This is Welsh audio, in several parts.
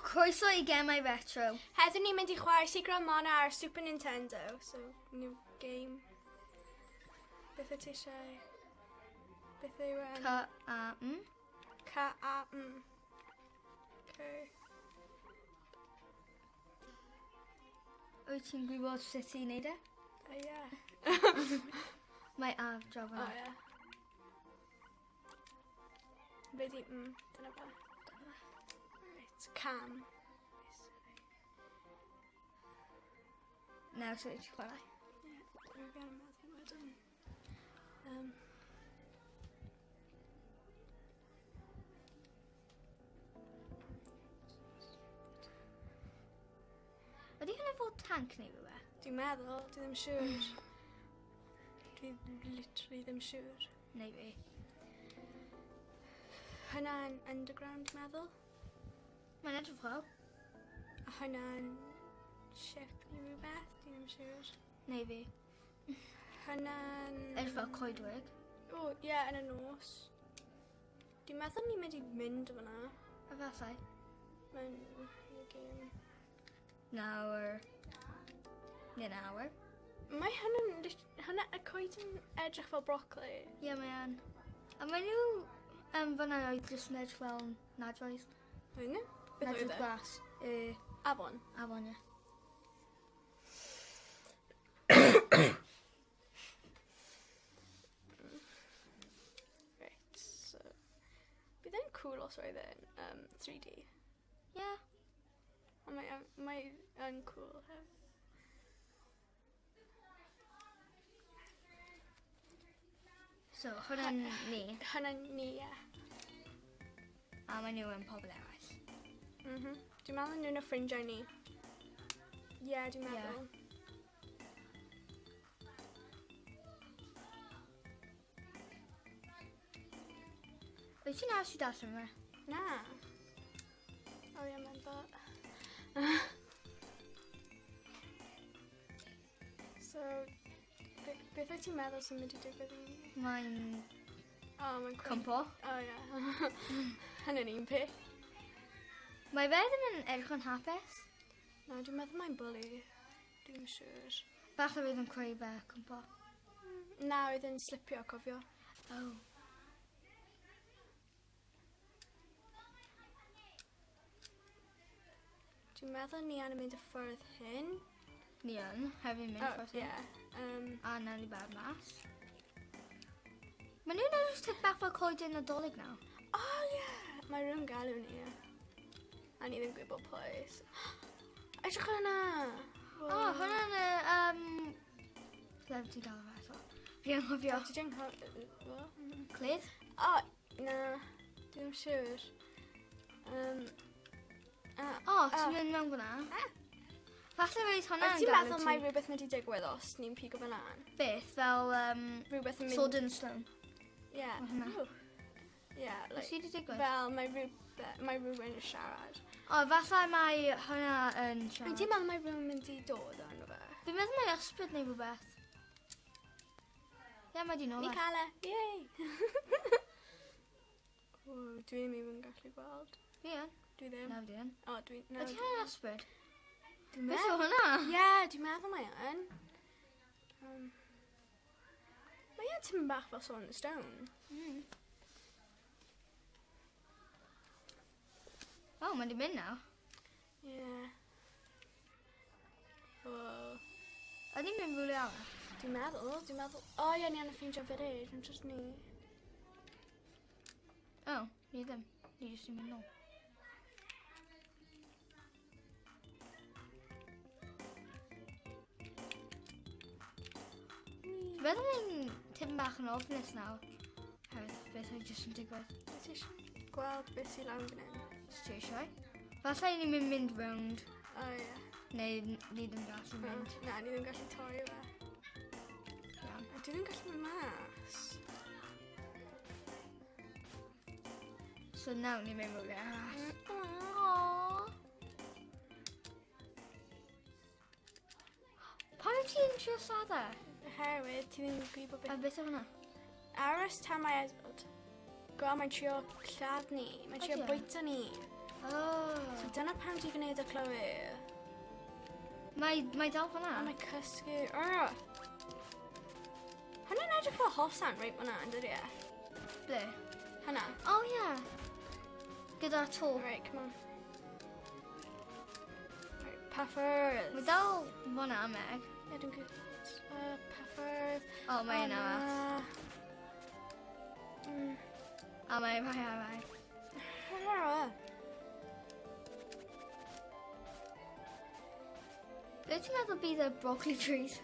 Croeso i Gemau Retro. Heddiw ni'n mynd i chwarae Secret of Mana ar Super Nintendo. So, new game. Beth wyt ti eisiau? Beth yw... K-A-M. K-A-M. Okay. Wyt ti'n gwybod sut i wneud e? Ie. Mae A draw O, fan'na. ie. Be di... dyna fe. Right, cam. Nawr sut wyt ti'n chwarae? Ie, dwi'n gael meddwl wedyn. Ydy hwnna fod tank neu rhywbeth? Dwi'n meddwl, dwi ddim siŵr. Dwi literally ddim siŵr. Neu fi. Hwnna'n underground, dwi'n meddwl. Mae'n edrych fel. A hwnna'n ship neu rhywbeth, dwi ddim siŵr. Neu fi. Hwnna'n... Edrych fel coedwig. O, ie, yn y nos. Dwi'n meddwl ni'n mynd i mynd fyna. Efallai. Mae'n game. Nawr. Neu nawr. Mae hwnna'n... Hwnna, y coed yn edrych fel brocoli. Ie, mae yn. A mae nhw fyna oedd jyst yn edrych fel nadroedd. Mae nhw? Beth oedd Nadroedd e? glas. Afon? Afon, ie. Right, so... Bydd e'n cool os oedd e'n 3D. Ie. Ond mae yn cool hefyd. So, hwnna'n ni. Hwnna'n ni, ie. A mae nhw yn pobl eraill. Dwi'n meddwl nhw'n y ffrindiau ni. Ie, dwi'n Ie. meddwl. Wyt ti'n aros i darllen fe? Na. O ie, mae'n dda. So, beth wyt ti'n meddwl sy'n mynd i digwydd i ni? Mae'n O, mae'n cwmpo. O, ie. Hynny'n un peth. Mae fe ddim yn edrych yn hapus. Na, dwi'n meddwl mae'n bully. Dwi'n siŵr. Falle fydd yn creu fe cwmpo. Na, oedd yn slipio, cofio. Oh. Dwi'n meddwl ni angen mynd y ffordd hyn. Ni yn, hefyd mynd O, ffordd hyn. ie. A nawn ni bad mas. Mae nhw'n edrych tipyn bach fel coeden Nadolig nawr. O, ie! Mae rhywun galw ni. A ni ddim gwybod pwy. Edrych ar hwnna! O, hwnna'n y... Ble ti'n gael fe eto? Fi anghofio. Ti di anghofio? Clyd? O, na. Dwi ddim siŵr. O, ti'n mynd mewn fyna? Falle fydd hwnna'n Wyt ti'n galw meddwl ti- mae rhywbeth mynd i digwydd os ni'n pigo fe lan? Beth, fel, Rhywbeth yn mynd... Sword and Stone. Ie. Ma' hwnna. Ww. Ie, Be like, sydd wedi digwydd? fel mae rhywun yn siarad. O, falle mae hwnna yn siarad. Wyt ti'n meddwl mae rhywun mynd i dod arno fe? Fi'n meddwl mae ysbryd neu rhywbeth. Ie, mae di nôl Ni e. cael e! Yay! O, dwi ddim even gallu gweld. Fi yn. Dwi ddim. Na, fi yn. O, dwi... Na, Ydy hwnna'n ysbryd? Dwi'n Beth yw meddwl. hwnna? Ie, dwi'n meddwl mae yn. Mae e'n tipyn bach fel Sword and Stone. O, mae'n di mynd nawr. Ie. O. Ydy mynd rhywle arall? Dwi'n meddwl, dwi'n meddwl... O, ie, ni angen ffeindio village, yn jyst ni. O, ni ddim. Ni jyst yn mynd nôl. Dwi'n meddwl mae'n tipyn bach yn ofnus nawr. Hefyd, beth oedd jyst yn digwydd. Wyt ti eisiau gweld beth sy'n lan fan hyn? Os ti eisiau. Falle ni'n mynd rownd, O, ie. neu ni ddim gallu mynd. Na, ni ddim gallu torri fe. Iawn. A dwi ddim gallu mynd mas. So nawr ni'n mynd rownd arall. Aww. Pam wyt ti'n trio lladd e? Oherwydd, ti ddim yn gwybod A beth... beth yw hwnna? Aros tan mae Edward. Go, mae'n trio lladd ni. Mae'n trio Ydi e? bwyta ni. Oh. So dyna pam ti'n gwneud y Chloe. Mae dal fyna. A mae cysgu. Arr. Hwnna'n edrych fel hosan reit fyna, yn dydi e? Ble? Hwnna. Oh, yeah. Gyda'r to. Right, come on. Right, puffers. Mae dal fyna, Meg. Ie, dwi'n gwybod. Puffers. Oh, mae yna. Na. A mae rhai arall. Ble ti'n meddwl bydd y broccoli trees?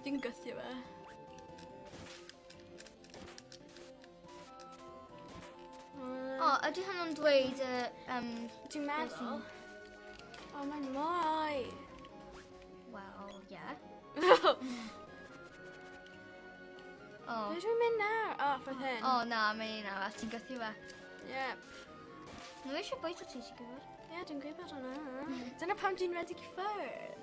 Dwi'n gythio fe. O, ydy hwnnw'n dweud y... Dwi'n meddwl. O, mae'n mwy. Wel, ie. O. Ble dwi'n mynd nawr? O, ffordd hyn. O, na, mae un arall. Ti'n gythio fe. Yep. Nhw eisiau bwyta ti, ti'n gwybod? Ie, dwi'n gwybod hwnna. Dyna pam dwi'n rhedeg i ffwrdd.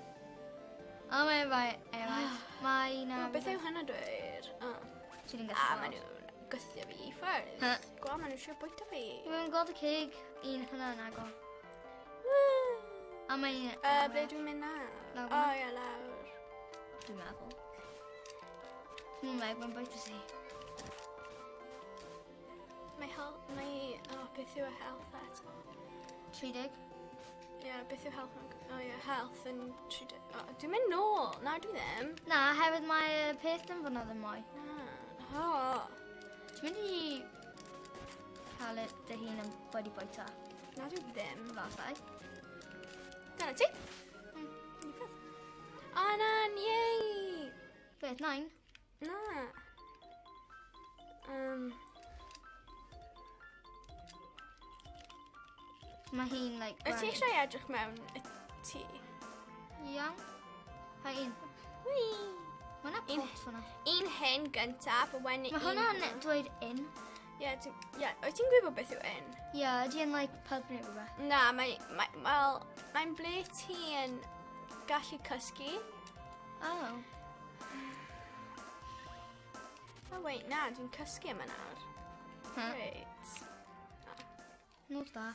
O, mae rai eraill. Mae un O, arall. beth yw hynna dweud? O. Ti ddim A, gallu maen gweld. nhw'n gythio fi i ffwrdd. Huh. Gwa, maen nhw'n trio bwyta fi. Dwi'n gweld y cig, un hwnna'n agor. A mae un Ble dwi'n mynd nawr? Lawr O, fyna. ie, lawr. Dwi'n meddwl. Dwi'n meddwl, mae'n bwyta ti. Mae health... Mae... O, beth yw y health eto? 30. Ie, yeah, beth yw health? O ie, health yn 30. O, dwi'n mynd nôl. Na, dwi ddim. Na, hefyd mae y peth ddim fyna ddim mwy. Na. O. Ti'n mynd i cael y dy hun yn wedi bwyta, Na, dwi ddim. efallai. Dyna ti. Un peth. O, na, yay! Beth, nain? Na. Mae hi'n, like, Wyt ti brown. eisiau edrych mewn y tŷ? Iawn. Hai un. Whee! Mae yna Un- pot fyna. Un hyn gyntaf, a wedyn Mae un hwnna'n hwnna. dweud in. Ie, ie, wyt ti'n gwybod beth yw un? Ie, ydy yn, like, pub neu rhywbeth. Na, mae, mae, wel, mae'n ble ti yn gallu cysgu. Oh. Oh, wait, na, dwi'n cysgu yma nawr. Huh. Great. Nos da.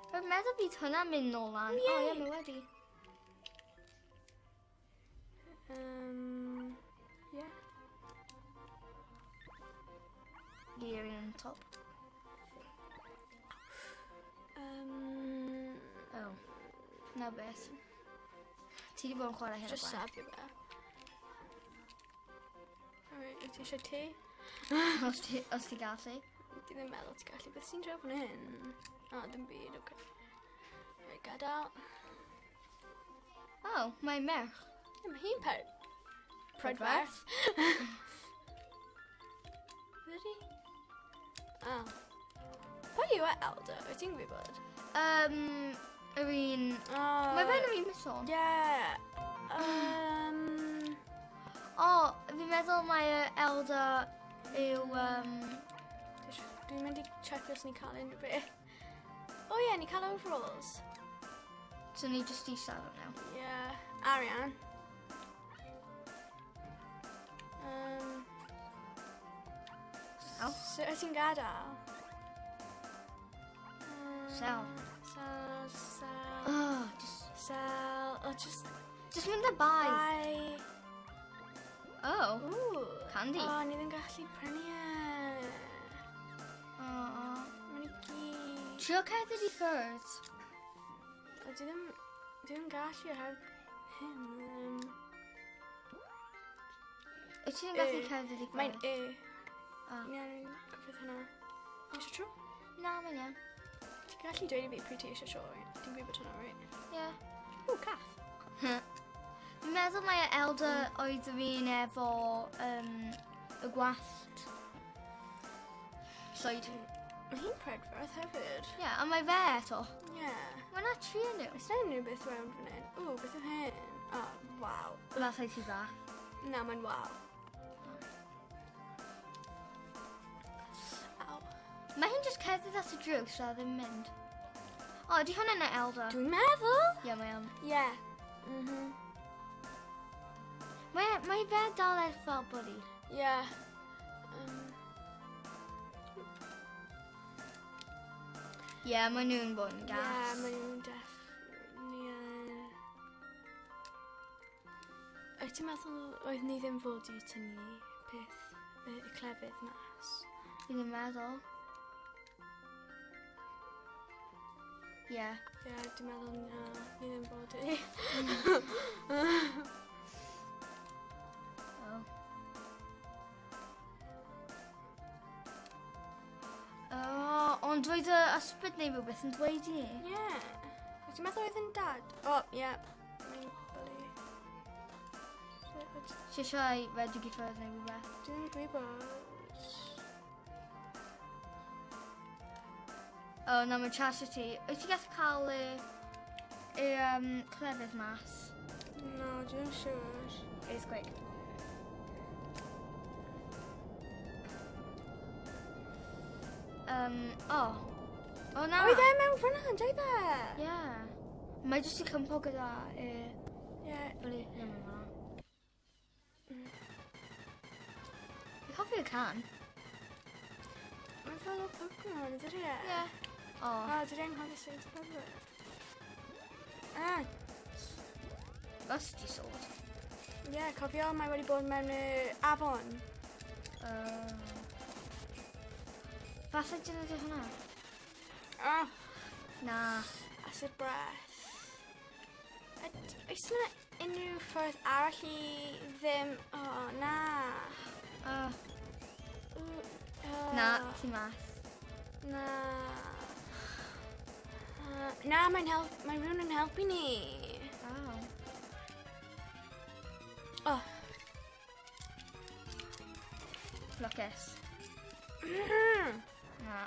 Rwy'n meddwl bydd hwnna'n mynd nôl lan. O, ie, Yay. mae wedi. Yeah. Gearing on top. Oh. Na beth. Ti wedi bod yn chwarae hyn o Just blaen. safio fe. Alright, wyt ti eisiau te? Os ti, os ti gallu. Dwi ddim meddwl ti'n gallu. Beth sy'n draw fan hyn? O, dim byd, oce. Right, gadael. Oh, mae merch. Ie, mae hi'n per... Prydferth. Ydy? O. Pwy yw e, Elder? Wyt ti'n gwybod? Yr un... Oh. Mae fe'n yr un mison. Yeah. O, fi'n meddwl mae y Elder yw... Dwi'n mynd i checio os ni'n cael unrhyw beth. O oh, ie, yeah, ni'n cael overalls. So ni just i siarad nawr. Ie, yeah. Arian. Sell. So, wyt ti'n gadael? Sell. Sell, sell, Oh, just... sell. Oh, just Just mynd â buy. buy. Oh. Ooh. Candy. O, oh, ni ddim gallu prynu e. Oh. Mae'n i gyd. Trio cerdded i ffwrdd. O, dwi ddim... Dwi ddim gallu oherwydd hyn. Wyt ti'n gallu Yy, cerdded i ffwrdd? Mae'n e. Ah. Ni angen gwybod hynna. Ti eisiau tro? Na, mae'n iawn. Ti'n gallu dweud i fi pryd ti eisiau tro, right? Ti'n gwybod hynna, right? Ie. O, cath. Fi'n meddwl mae y Elder oedd yr un efo y gwallt. Llwyd. Mae hi'n prydferth hefyd. Ie, yeah, a mae fe eto. Ie. Yeah. Mae yna tri yn nhw. Oes 'na unrhyw beth rownd fan hyn? O, beth yw hyn? O, waw. Efallai ti dda. Na, mae'n waw. Aw. Mae hi'n just cerdded at y drws a ddim mynd. O, ydy hwnna'n y Elder? Dwi'n meddwl. Ie, mae o'n. Ie. Mae fe dal edrych fel bully. Ie. Ie, mae nhw'n bod yn gas. Ie, mae nhw'n deff. Ie. Wyt ti'n meddwl oedd ni ddim fod i tynnu peth y clefydd mas? Fi ddim meddwl. Ie. Ie, dwi'n meddwl na, ni ddim fod i. Oh. Oh, ond dweud y ysbryd neu rhywbeth yn dweud i ni. Ie. Wyt ti'n meddwl oedd yn dad? O, ie. Mae'n bully. Ti eisiau redeg i ffwrdd neu rhywbeth? Dwi ddim yn gwybod. O, na, mae'n charge ti. Wyt ti'n gallu cael y clefydd mas? No, dwi ddim siŵr. Earthquake. O. O, na. Oedd e mewn fyna, doedd e? Ie. Mae jyst i cympo gyda y... Ie. Bully. Ie, mae'n fyna. Fi'n hoffi y can. Mae'n fel o Pokemon, ydy e? Ie. O. O, dwi anghofio sut i gwybod. Ah, Rusty sword. ie, cofio, mae wedi bod mewn y afon. Falle dyn nhw hwnna? Ah, Na. acid breath. Oes yna unrhyw ffordd arall i ddim... O, na. Na, ti mas. Na. Na, mae'n help, mae rhywun yn helpu ni. Oh. Oh. Lwcus. Na.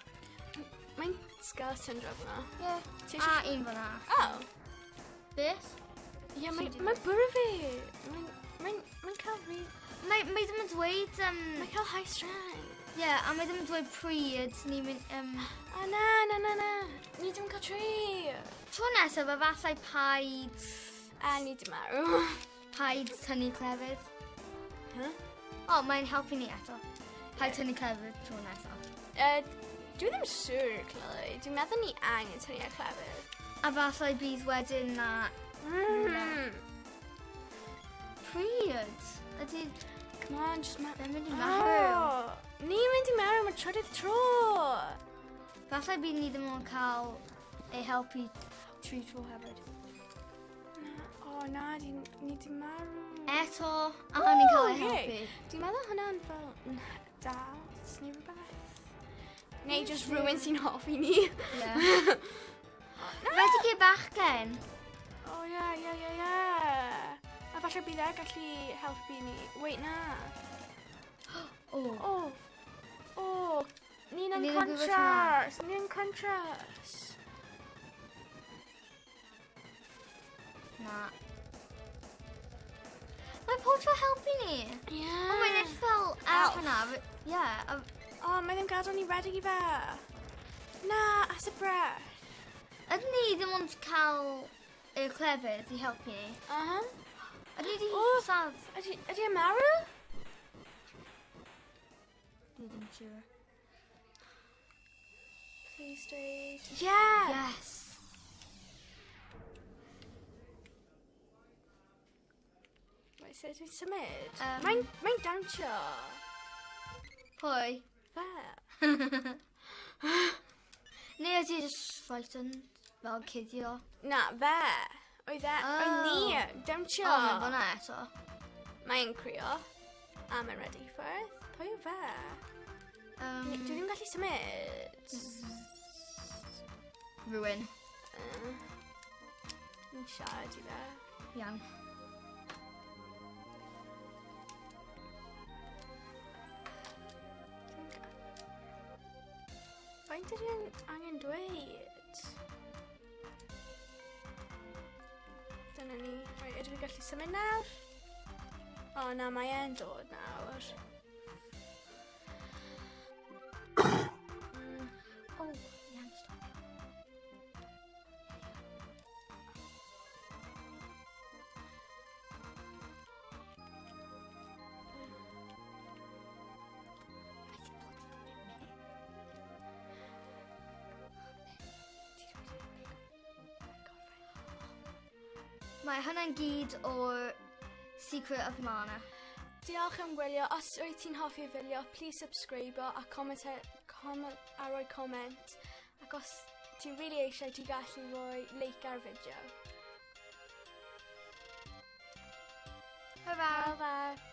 Mae'n skeleton drop yna. Ie. Ti A eisiau... un fyna. Oh. Beth? Ie, Sy'n mae'n bwrw fi. Mae'n cael rhi... Mae ddim yn dweud... Mae'n cael high strength. Ie, a mae ddim yn dweud pryd ni'n mynd... O, na, na, na, na. Ni ddim yn cael tri. Tro nesaf, efallai paid... A ni dim marw. Paid tynnu clefydd. Huh? O, mae'n helpu ni eto. Paid tynnu clefydd tro nesaf. Dwi ddim siŵr, Chloe. Dwi'n meddwl ni angen tynnu ar clefydd. A falle bydd wedyn na... Pryd? Ydy... Come on, just ma... Fe'n mynd i marw. Oh, ni'n mynd i marw, mae trydydd tro. Falle bydd ni ddim yn cael ei helpu tri tro hefyd. Na, o na, ni di marw. Eto, a ni'n cael ei Ww, helpu. Dwi'n meddwl hwnna'n fel dad neu rhywbeth. Neu just rhywun sy'n hoffi ni. Ie. Redig i'r bachgen. O ie, ie, ie, ie. A falle bydd e gallu helpu ni. Wait, na. O. O, o, ni'n Ni'n gwybod unconscious. Ni'n unconscious. Na. Mae pob tro helpu ni. Ie. O, mae'n edrych fel elf Elf. hwnna. Ie. O, mae ddim gadael ni redeg i fe. Na, acid breath. Ydyn ni ddim ond cael y clefyd i helpu ni? Uh-huh. Ydyn ni wedi O. lladd? Ydy e marw? Dwi ddim siŵr. Please dweud. Yeah! Yes. Wait, so dwi'n symud? Mae'n dawnsio. Pwy? Fe. Neu ydy just frightened, fel cuddio. Na, fe. Oedd e, oedd ni, dawnsio. O, mae'n fyna eto. Mae'n crio. A mae'n ready ffwrdd. Pwy yw fe? Dwi ddim gallu symud. Rhywun. Ni'n siarad i fe. Iawn. Faint ydy e'n angen dweud? Dyna ni. Right, ydw i'n gallu symud nawr? O, na, mae e'n dod nawr. O, iawn, stop. Mae hwnna'n gyd o'r Secret of Mana. Diolch am gwylio. Os wyt ti'n hoffi fideo, please subscribe a comment, comment, a rhoi comment. Ac os ti'n really eisiau, ti'n gallu rhoi like ar fideo. Hwyl fawr. Hwyl fawr.